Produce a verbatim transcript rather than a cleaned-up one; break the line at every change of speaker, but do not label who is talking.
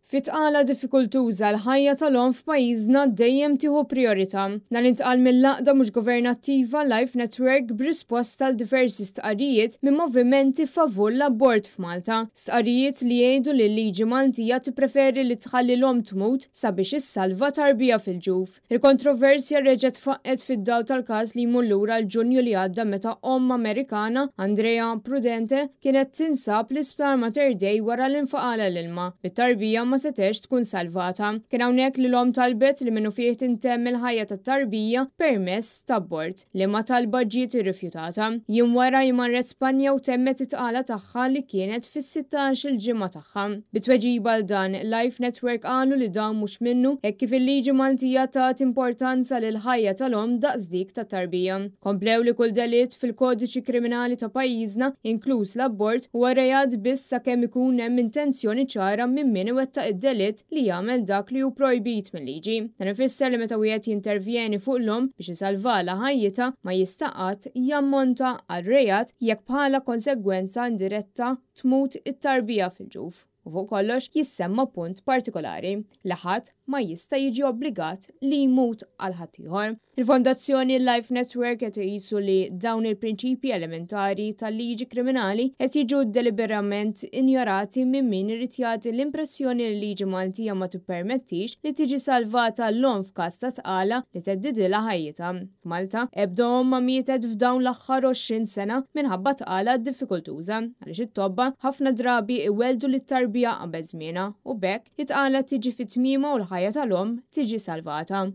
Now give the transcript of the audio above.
Fi tqala diffikultuża, l-ħajja tal-omm f'pajjiżna dejjem tieħu priorità. Dan intqal mill-għaqda mhux governattiva Life Network b'risposta għal diversi stqarrijiet minn movimenti favur l-abort f'Malta. Stqarrijiet li jgħidu li l-liġi Maltija tippreferi li tħalli l-omm tmut sabiex issalva tarbija fil-ġuf. Il-kontroversja reġgħet faqqgħet fid-dawl tal-każ li jmur lura l-Ġunju li għadda, meta omm Amerikana, Andrea Prudente, kienet tinsab l-isptar Mater Dei wara li nfaqagħlha l-ilma, bit-tarbija ma setgħetx tkun salvata. Kien hawnhekk li l-omm talbet li minnufih tintemm il-ħajja tat-tarbija permezz ta' abort, liema talba ġiet irrifjutata. Jiem wara marret Spanja u temmet it-tqala tagħha li kienet fis-sittax-il ġimgħa tagħha. Bi tweġiba għal dan, Life Network qalu li dan mhux minnu, hekk kif il-liġi Maltija tat importanza lil ħajja tal-omm daqs dik tat-tarbija. Komplew li kull delitt fil-kodiċi kriminali ta' pajjiżna, inkluż l-abort, huwa reat biss sakemm ikun hemm intenzjoni ċara minn min iwettaq id-delitt li jagħmel dak li hu projbit mill-liġi. Dan ifisser li meta wieħed jintervjeni fuq l-omm biex isalvala ħajjitha, ma jista' qatt jammonta għal reat jekk bħala konsegwenza indiretta tmut it-tarbija fil-ġuf. U fuq kollox jissemma punt partikolari li ħadd ma jista' jiġi obbligat li jmut għal ħaddieħor. Il-Fondazzjoni Life Network qed iqisu li dawn il-prinċipji elementari tal-liġi kriminali qed jiġu deliberament injorati minn min irid jagħti l-impressjoni li l-liġi Maltija ma tippermettix li tiġi salvata l-omm f'każ ta' tqala li theddidilha ħajjitha. Malta, ebda omm ma mietet f'dawn l-aħħar għoxrin sena minħabba tqala diffikultuża, għaliex it-tobba ħafna drabi iweldu lit-tarbija qabel żmienha u b'hekk it-tqala tiġi fit-tmiema u l-ħajja tal-omm tiġi salvata.